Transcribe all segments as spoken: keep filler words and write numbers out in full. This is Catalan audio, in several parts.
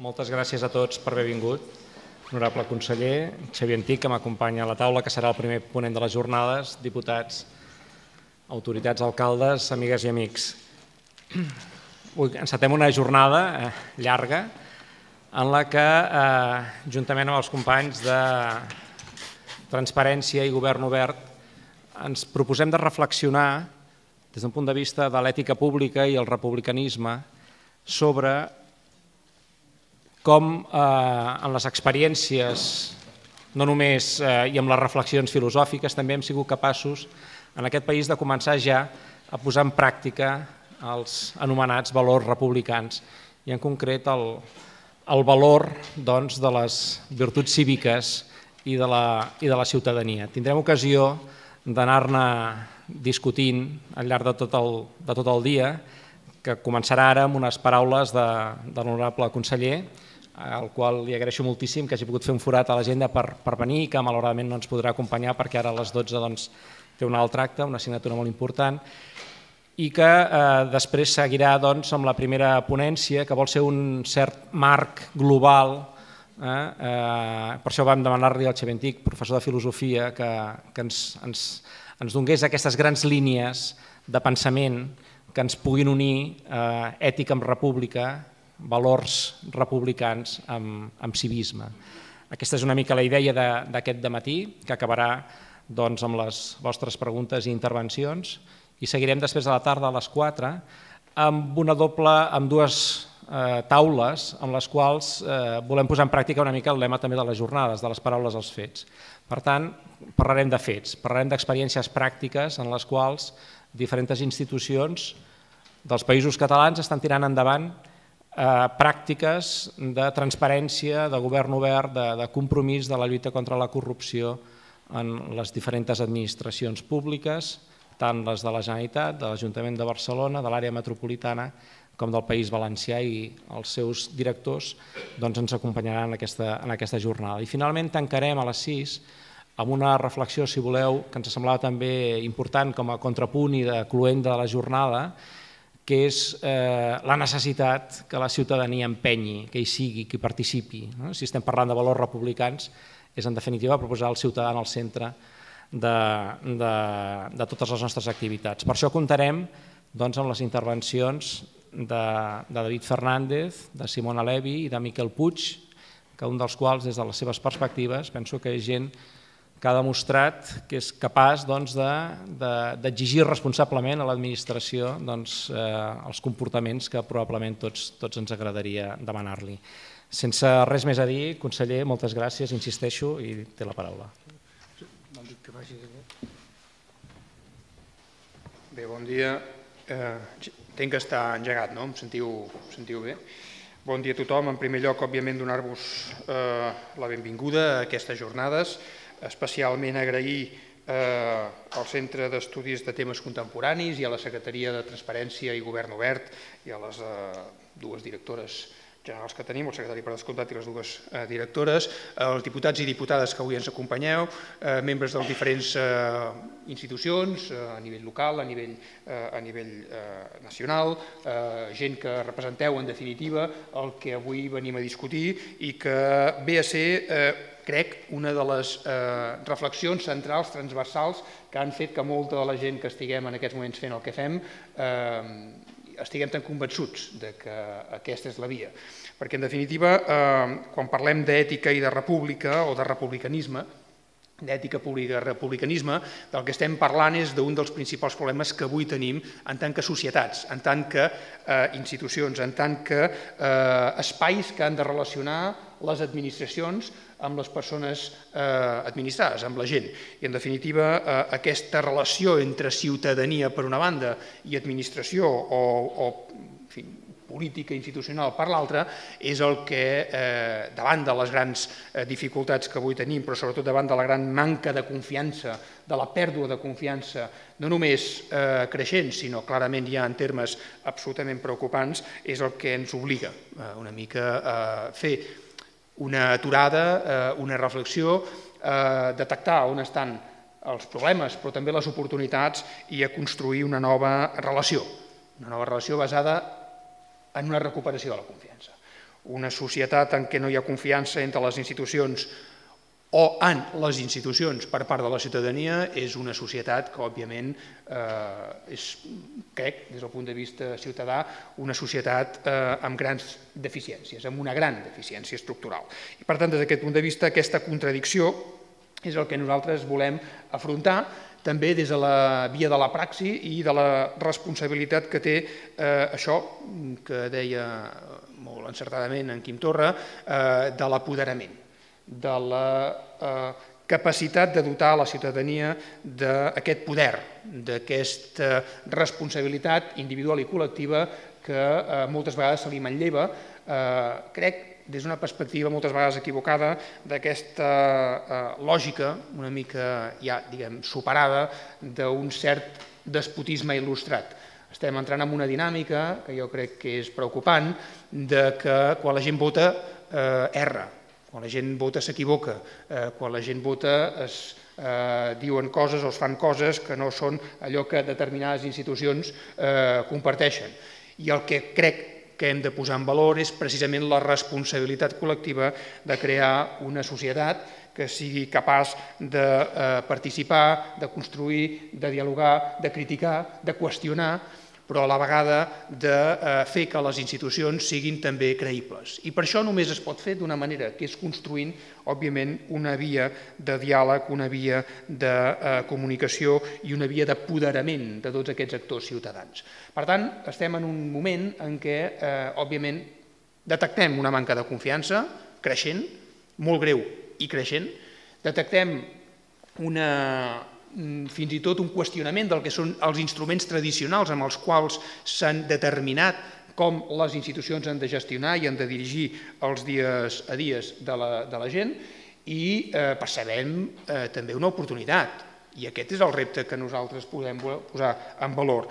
moltes gràcies a tots per haver vingut. Honorable conseller, Xavier Antich, que m'acompanya a la taula, que serà el primer ponent de les jornades, diputats, autoritats, alcaldes, amigues i amics. Avui encetem una jornada llarga en la que, juntament amb els companys de Transparència i Govern Obert, ens proposem de reflexionar des d'un punt de vista de l'ètica pública i el republicanisme sobre com en les experiències, no només i amb les reflexions filosòfiques, també hem sigut capaços en aquest país de començar ja a posar en pràctica els anomenats valors republicans i en concret el valor de les virtuts cíviques i de la ciutadania. Tindrem ocasió d'anar-ne discutint al llarg de tot el dia, que començarà ara amb unes paraules de l'honorable conseller, al qual li agraeixo moltíssim que hagi pogut fer un forat a l'agenda per venir i que malauradament no ens podrà acompanyar perquè ara a les dotze té un altre acte, una assignatura molt important, i que després seguirà amb la primera ponència, que vol ser un cert marc global. Per això vam demanar-li al Xavier Antich, professor de filosofia, que ens donés aquestes grans línies de pensament que ens puguin unir ètica amb república, valors republicans amb civisme. Aquesta és una mica la idea d'aquest dematí, que acabarà amb les vostres preguntes i intervencions, i seguirem després de la tarda a les quatre amb una doble, amb dues taules amb les quals volem posar en pràctica una mica el lema també de les jornades, de les paraules als fets. Per tant, parlarem de fets, parlarem d'experiències pràctiques en les quals diferents institucions dels països catalans estan tirant endavant pràctiques de transparència, de govern obert, de compromís de la lluita contra la corrupció en les diferents administracions públiques, tant les de la Generalitat, de l'Ajuntament de Barcelona, de l'àrea metropolitana, com del País Valencià, i els seus directors ens acompanyaran en aquesta jornada. I finalment tancarem a les sis amb una reflexió, si voleu, que ens semblava també important com a contrapunt i de cloent de la jornada, que és la necessitat que la ciutadania empenyi, que hi sigui, que hi participi. Si estem parlant de valors republicans, és en definitiva proposar el ciutadà al centre de totes les nostres activitats. Per això comptarem amb les intervencions de David Fernández, de Simona Levi i de Miquel Puig, que un dels quals, des de les seves perspectives, penso que és gent que ha demostrat que és capaç d'exigir responsablement a l'administració els comportaments que probablement tots ens agradaria demanar-li. Sense res més a dir, conseller, moltes gràcies, insisteixo, i té la paraula. Bé, bon dia. Entenc que està engegat, no? Em sentiu bé? Bon dia a tothom. En primer lloc, òbviament, donar-vos la benvinguda a aquestes jornades, especialment agrair al Centre d'Estudis de Temes Contemporanis i a la Secretaria de Transparència i Govern Obert i a les dues directores generals que tenim, el secretari per descomptat i les dues directores, els diputats i diputades que avui ens acompanyeu, membres de les diferents institucions a nivell local, a nivell nacional, gent que representeu en definitiva el que avui venim a discutir i que ve a ser, crec, una de les reflexions centrals, transversals, que han fet que molta de la gent que estiguem en aquests moments fent el que fem estiguem tan convençuts que aquesta és la via. Perquè, en definitiva, quan parlem d'ètica i de república o de republicanisme, d'ètica pública i republicanisme, del que estem parlant és d'un dels principals problemes que avui tenim en tant que societats, en tant que institucions, en tant que espais que han de relacionar les administracions amb les persones administrades, amb la gent. I, en definitiva, aquesta relació entre ciutadania per una banda i administració o política institucional per l'altra és el que, davant de les grans dificultats que avui tenim, però sobretot davant de la gran manca de confiança, de la pèrdua de confiança, no només creixent, sinó clarament ja en termes absolutament preocupants, és el que ens obliga una mica a fer una aturada, una reflexió, detectar on estan els problemes, però també les oportunitats, i a construir una nova relació, una nova relació basada en una recuperació de la confiança. Una societat en què no hi ha confiança entre les institucions o en les institucions per part de la ciutadania és una societat que, òbviament, és, crec, des del punt de vista ciutadà, una societat amb grans deficiències, amb una gran deficiència estructural. I, per tant, des d'aquest punt de vista, aquesta contradicció és el que nosaltres volem afrontar, també des de la via de la praxi i de la responsabilitat que té això que deia molt encertadament en Quim Torra, de l'apoderament, de la capacitat de dotar la ciutadania d'aquest poder, d'aquesta responsabilitat individual i col·lectiva que moltes vegades se li manlleva, crec, des d'una perspectiva moltes vegades equivocada, d'aquesta lògica una mica ja, diguem, superada d'un cert despotisme il·lustrat. Estem entrant en una dinàmica que jo crec que és preocupant, de que quan la gent vota erra, quan la gent vota s'equivoca, quan la gent vota es diuen coses o es fan coses que no són allò que determinades institucions comparteixen. I el que crec que hem de posar en valor és precisament la responsabilitat col·lectiva de crear una societat que sigui capaç de participar, de construir, de dialogar, de criticar, de qüestionar, però a la vegada de fer que les institucions siguin també creïbles. I per això només es pot fer d'una manera, que és construint, òbviament, una via de diàleg, una via de comunicació i una via d'apoderament de tots aquests actors ciutadans. Per tant, estem en un moment en què, òbviament, detectem una manca de confiança creixent, molt greu i creixent, detectem una fins i tot un qüestionament del que són els instruments tradicionals amb els quals s'han determinat com les institucions han de gestionar i han de dirigir els dies a dies de la gent i percebem també una oportunitat. I aquest és el repte que nosaltres podem posar en valor.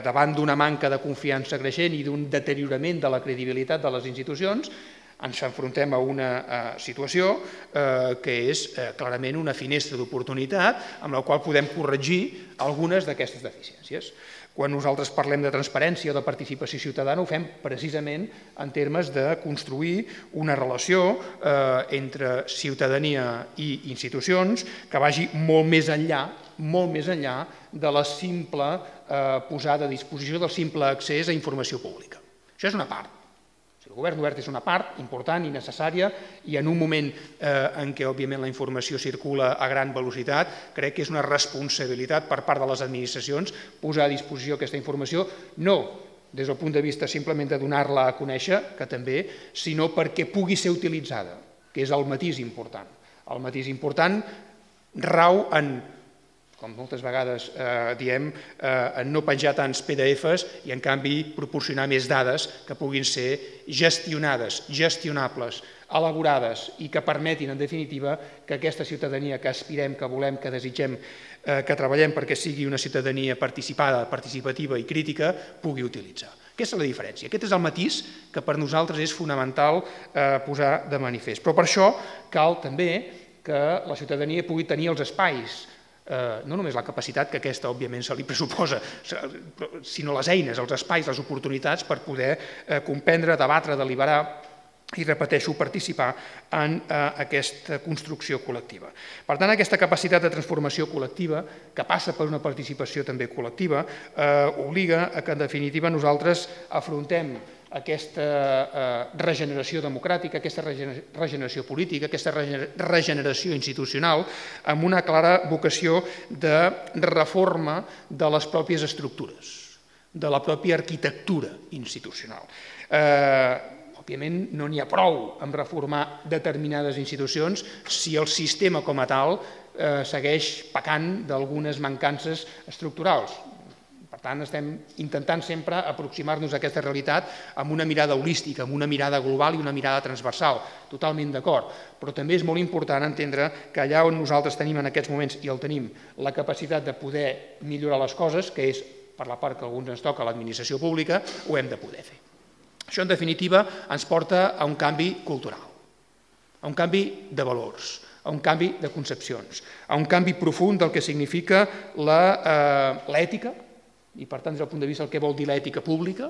Davant d'una manca de confiança creixent i d'un deteriorament de la credibilitat de les institucions, ens enfrontem a una situació que és clarament una finestra d'oportunitat amb la qual podem corregir algunes d'aquestes deficiències. Quan nosaltres parlem de transparència o de participació ciutadana ho fem precisament en termes de construir una relació entre ciutadania i institucions que vagi molt més enllà, molt més enllà de la simple posada a disposició, del simple accés a informació pública. Això és una part. El govern obert és una part important i necessària i en un moment en què, òbviament, la informació circula a gran velocitat, crec que és una responsabilitat per part de les administracions posar a disposició aquesta informació, no des del punt de vista simplement de donar-la a conèixer, que també, sinó perquè pugui ser utilitzada, que és el matís important. El matís important rau en, com moltes vegades diem, en no penjar tants pe de efes i, en canvi, proporcionar més dades que puguin ser gestionades, gestionables, elaborades i que permetin, en definitiva, que aquesta ciutadania que aspirem, que volem, que desitgem, que treballem perquè sigui una ciutadania participada, participativa i crítica, pugui utilitzar. Aquesta és la diferència. Aquest és el matís que per nosaltres és fonamental posar de manifest. Però per això cal també que la ciutadania pugui tenir els espais, no només la capacitat que aquesta, òbviament, se li pressuposa, sinó les eines, els espais, les oportunitats per poder comprendre, debatre, deliberar i, repeteixo, participar en aquesta construcció col·lectiva. Per tant, aquesta capacitat de transformació col·lectiva, que passa per una participació també col·lectiva, obliga a que, en definitiva, nosaltres afrontem aquesta regeneració democràtica, aquesta regeneració política, aquesta regeneració institucional amb una clara vocació de reforma de les pròpies estructures, de la pròpia arquitectura institucional. Òbviament, no n'hi ha prou amb reformar determinades institucions si el sistema com a tal segueix pecant d'algunes mancances estructurals. Per tant, estem intentant sempre aproximar-nos a aquesta realitat amb una mirada holística, amb una mirada global i una mirada transversal, totalment d'acord. Però també és molt important entendre que allà on nosaltres tenim en aquests moments, i el tenim, la capacitat de poder millorar les coses, que és per la part que a alguns ens toca l'administració pública, ho hem de poder fer. Això, en definitiva, ens porta a un canvi cultural, a un canvi de valors, a un canvi de concepcions, a un canvi profund del que significa l'ètica i per tant des del punt de vista del que vol dir l'ètica pública,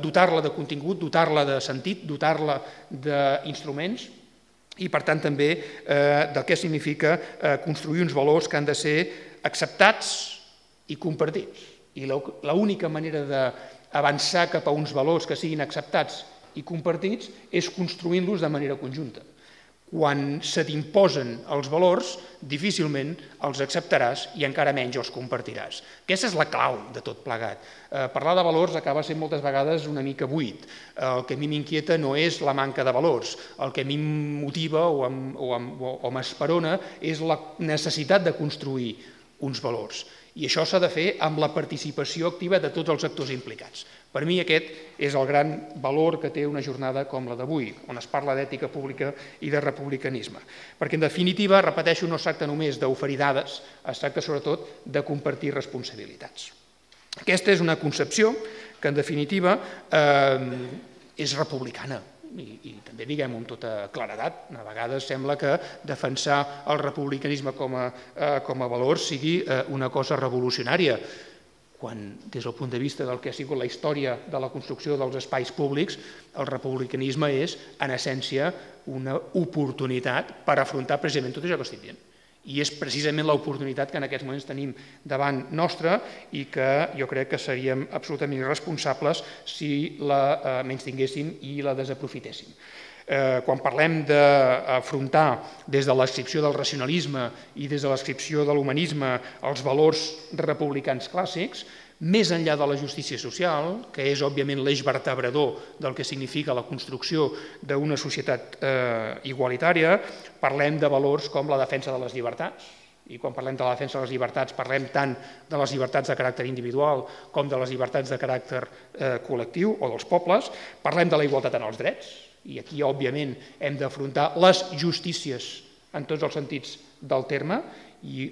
dotar-la de contingut, dotar-la de sentit, dotar-la d'instruments i per tant també del que significa construir uns valors que han de ser acceptats i compartits. I l'única manera d'avançar cap a uns valors que siguin acceptats i compartits és construint-los de manera conjunta. Quan se t'imposen els valors, difícilment els acceptaràs i encara menys els compartiràs. Aquesta és la clau de tot plegat. Parlar de valors acaba sent moltes vegades una mica buit. El que a mi m'inquieta no és la manca de valors. El que a mi em motiva o m'esperona és la necessitat de construir uns valors. I això s'ha de fer amb la participació activa de tots els actors implicats. Per mi aquest és el gran valor que té una jornada com la d'avui, on es parla d'ètica pública i de republicanisme. Perquè, en definitiva, repeteixo, no es tracta només d'oferir dades, es tracta sobretot de compartir responsabilitats. Aquesta és una concepció que, en definitiva, és republicana. I també diguem-ho amb tota claredat, a vegades sembla que defensar el republicanisme com a valor sigui una cosa revolucionària, quan des del punt de vista del que ha sigut la història de la construcció dels espais públics, el republicanisme és, en essència, una oportunitat per afrontar precisament tot això que estic dient. I és precisament l'oportunitat que en aquests moments tenim davant nostra i que jo crec que seríem absolutament irresponsables si la menystinguéssim i la desaprofitéssim. Quan parlem d'afrontar des de l'adscripció del racionalisme i des de l'adscripció de l'humanisme els valors republicans clàssics, més enllà de la justícia social, que és òbviament l'eix vertebrador del que significa la construcció d'una societat igualitària, parlem de valors com la defensa de les llibertats. I quan parlem de la defensa de les llibertats parlem tant de les llibertats de caràcter individual com de les llibertats de caràcter col·lectiu o dels pobles. Parlem de la igualtat en els drets, i aquí, òbviament, hem d'afrontar les justícies en tots els sentits del terme i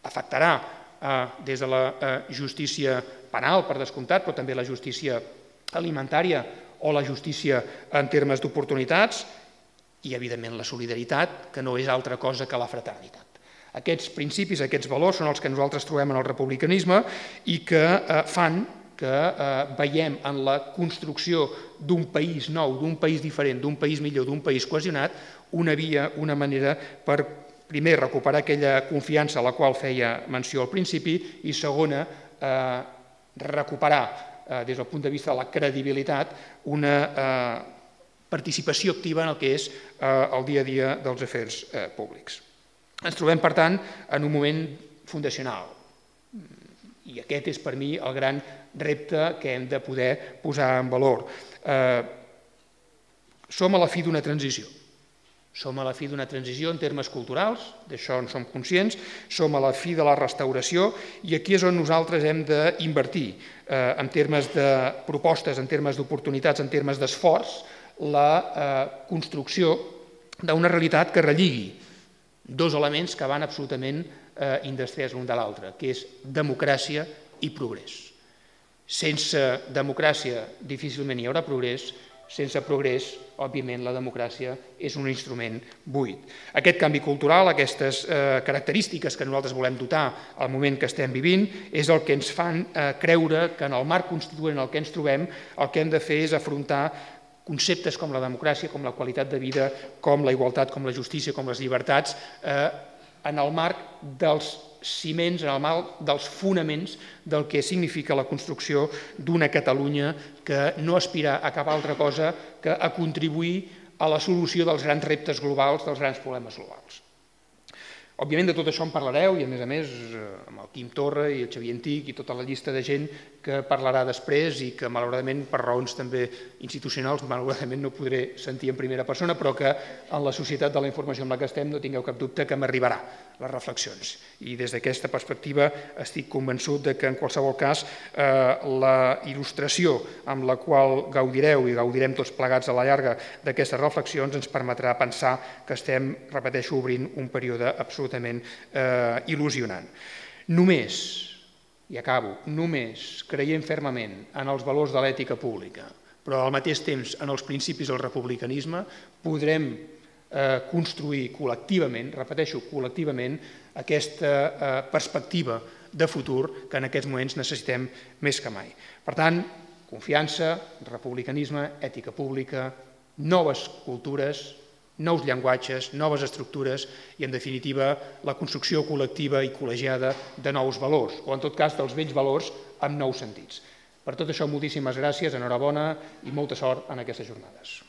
afectarà des de la justícia penal, per descomptat, però també la justícia alimentària o la justícia en termes d'oportunitats i, evidentment, la solidaritat, que no és altra cosa que la fraternitat. Aquests principis, aquests valors són els que nosaltres trobem en el republicanisme i que fan que veiem en la construcció d'un país nou, d'un país diferent, d'un país millor, d'un país cohesionat, una via, una manera per, primer, recuperar aquella confiança a la qual feia menció al principi i, segona, recuperar, des del punt de vista de la credibilitat, una participació activa en el que és el dia a dia dels afers públics. Ens trobem, per tant, en un moment fundacional. I aquest és, per mi, el gran repte que hem de poder posar en valor. Som a la fi d'una transició. Som a la fi d'una transició en termes culturals, d'això en som conscients, som a la fi de la restauració i aquí és on nosaltres hem d'invertir en termes de propostes, en termes d'oportunitats, en termes d'esforç, la construcció d'una realitat que relligui dos elements que van absolutament indestriats l'un de l'altre, que és democràcia i progrés. Sense democràcia difícilment hi haurà progrés, sense progrés, òbviament, la democràcia és un instrument buit. Aquest canvi cultural, aquestes característiques que nosaltres volem dotar al moment que estem vivint, és el que ens fan creure que en el marc constituent en el que ens trobem el que hem de fer és afrontar conceptes com la democràcia, com la qualitat de vida, com la igualtat, com la justícia, com les llibertats, en el marc dels ciments, en el marc dels fonaments del que significa la construcció d'una Catalunya que no aspira a cap altra cosa que a contribuir a la solució dels grans reptes globals, dels grans problemes globals. Òbviament de tot això en parlareu i a més a més amb el Quim Torra i el Xavier Antic i tota la llista de gent que parlarà després i que malauradament per raons també institucionals malauradament no podré sentir en primera persona però que en la societat de la informació en la que estem no tingueu cap dubte que m'arribarà les reflexions i des d'aquesta perspectiva estic convençut que en qualsevol cas la il·lustració amb la qual gaudireu i gaudirem tots plegats a la llarga d'aquestes reflexions ens permetrà pensar que estem, repeteixo, obrint un període absolutament il·lusionant. Només, i acabo, només creient fermament en els valors de l'ètica pública, però al mateix temps en els principis del republicanisme, podrem construir col·lectivament, repeteixo, col·lectivament, aquesta perspectiva de futur que en aquests moments necessitem més que mai. Per tant, confiança, republicanisme, ètica pública, noves cultures, nous llenguatges, noves estructures i, en definitiva, la construcció col·lectiva i col·legiada de nous valors, o en tot cas dels vells valors amb nous sentits. Per tot això, moltíssimes gràcies, enhorabona i molta sort en aquestes jornades.